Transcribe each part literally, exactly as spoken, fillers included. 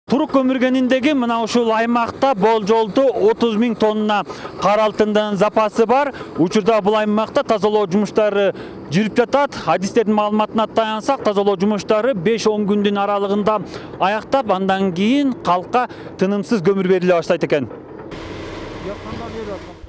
Турук көмүргениндеги мына ушул аймакта болжолду отуз миң тонна кара алтындын запасы бар. Учурда бул аймакта тазалоо жумуштары жүрүп жатат. Адистердин маалыматына таянсак, тазалоо жумуштары беш он күндүн аралыгында аяктап, андан кийин калкка тынымсыз көмүр бериле баштайт экен.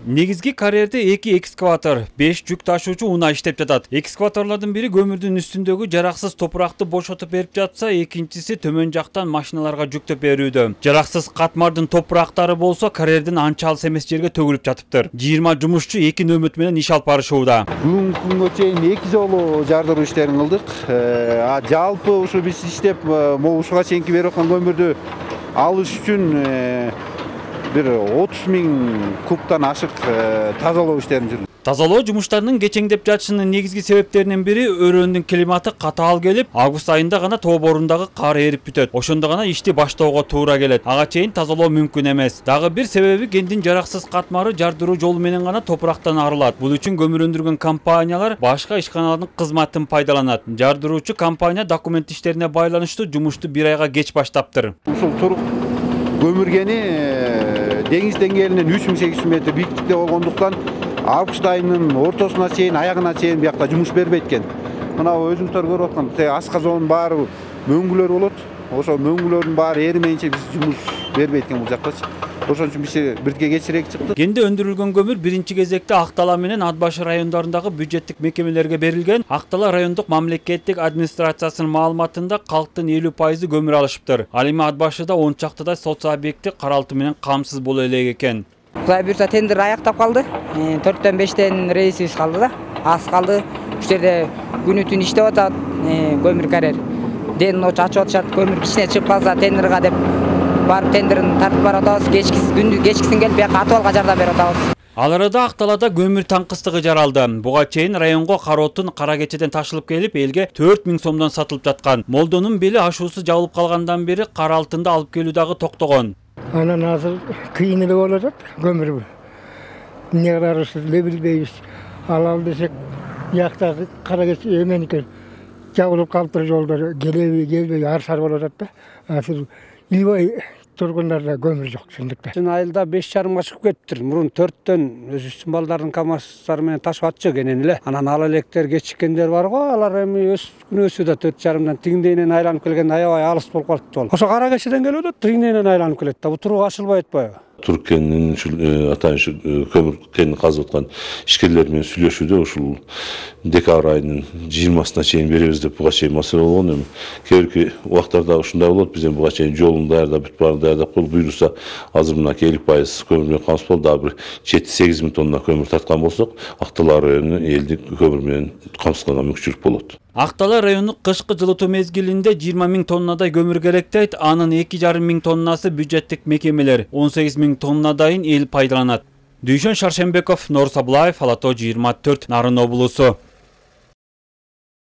Негизги карьерде эки экскаватор, беш жүк ташуучу унаа иштеп жатат. Экскаваторлордун бири көмүрдүн үстүндөгү жараксыз топуракты бошотуп берип жатса, экинчиси төмөн жактан машиналарга жүктөп берүүдө. Жараксыз катмардын топурактары болсо карьердин анча алыс эмес жерге төгүлүп жатыптыр. жыйырма жумушчу эки нөмөт менен иш алып барышууда. Бүгүнкү күнгө чейин эки жолу жардыруу иштерин кылдык. А жалпы ушу биз иштеп, могу ушуга чейинки берип аткан көмүрдү алыш үчүн бир отуз миң кубтан ашык тазалоо иштерин жүргүздүк. Тазалоо жумуштарынын кечеңдеп жатышынын негизги себептеринин бири өрөөнүн климаты катаал келип, август айында гана тоо борундагы кар эрип бүтөт. Ошондо гана ишти баштоого туура келет. Ага чейин тазалоо мүмкүн эмес. Дагы бир себеби кендин жараксыз катмары жардыруу жолу менен гана топурактан арылат. Бул үчүн көмүр өндүргөн компаниялар башка ишканалардын кызматын пайдаланат. Жардыруучу компания документ иштерине байланыштуу жумушту бир айга кеч баштаптыр. Ушул турук көмүргени деңиз деңгээлинен үч миң сегиз жүз метр бийиктикте болгондуктан август айынын ортосуна чейин, аягына чейин биякта жумуш бербейт экен. Мына өзүңүздөр көрүп аткан асказоонун баары мөңгүлөр болот. Ошо мөңгүлөрдүн баары эримейинче биз жумуш бербейт экен бул жактачы. Ошон үчүн биз бирге кечирээк чыкты. Кенде өндүрүлгөн көмүр биринчи кезекте Ак Дала менен Ат башы райондорундагы бюджеттик мекемелерге берилген. Ак Дала райондук мамлекеттик администрациясынын маалыматында калктын элүү пайызы көмүр алышыптыр. Ал эми Ат башыда он чактыдай социо объекти кара алтын менен камсыз боло элек экен. Кудай буюрса тендер аяктап калды. төрттөн бештен рейсибиз калды да. Аз калды. Ушул жерде күнү түн иштеп атат көмүр карьер. Ден ночу ачып атышат, көмүр кичине чыгып калса тендерга деп барып тендерин тартып барып атабыз. Кечкисин күндү кечкисин келип бияка атыбалга жардам берип атабыз. Ал арада Ак Далада көмүр таңкыстыгы жаралды. Буга чейин районго кара отун кара кечеден ташылып келип, элге төрт миң сомдон сатылып жаткан. Молдонун бели ашуусу жабылып калгандан бери кара алтынды алып келүү дагы токтогон. Анан азыр кыйын эле болуп атат көмүр. Эмне кыларыбызды эле билбейбиз. Алалы десек, бияктагы кара кече эменики жабылып калыптыр жолдор, келеби, келбеби ар сар болуп атат да. Азыр илбай тургундарда көмүр жок чындыкта. Чын айылда беш жарымга чыгып кетиптир. Мурун төрттөн өзүбүздүн балдардын камаздары менен ташып атчы кенен эле. Анан ал электер кечиккендер бар го, алар эми өз күнөөсү да төрт жарымдан тиңдейинен айланып келгенде аябай алыс болуп калыптыр бол. Ошо кара кечеден келип атат, тиңдейинен айланып келет да. Бу турук ашылбай атпайбы? Турук кенинин ушул атайын көмүр кенин казып аткан ишкерлер менен сүйлөшүүдө ушул декабрь айынын жыйырмасына чейин беребиз деп буга чейин маселе болгон. Эми кийинки убактарда ушундай болот. Биз эми буга чейин жолун даярдап бүт баарын даярдап коюп буйруса, азыр мына элүү пайыз көмүр менен камсыз болуп, дагы бир жети сегиз миң тонна көмүр тарткан болсок, Ак Дала району элди көмүр менен камсызганга мүмкүнчүлүк болот. Ак Дала райондук кышкы жылытуу мезгилинде жыйырма миң тоннадай көмүр керектейт. Анын эки жарым миң тоннасы бюджеттик мекемелер, он сегиз миң тоннадайын эл пайдаланат. Дүйшөн Шаршембеков, Нор Сабылаев, Ала тоо жыйырма төрт, Нарын облусу.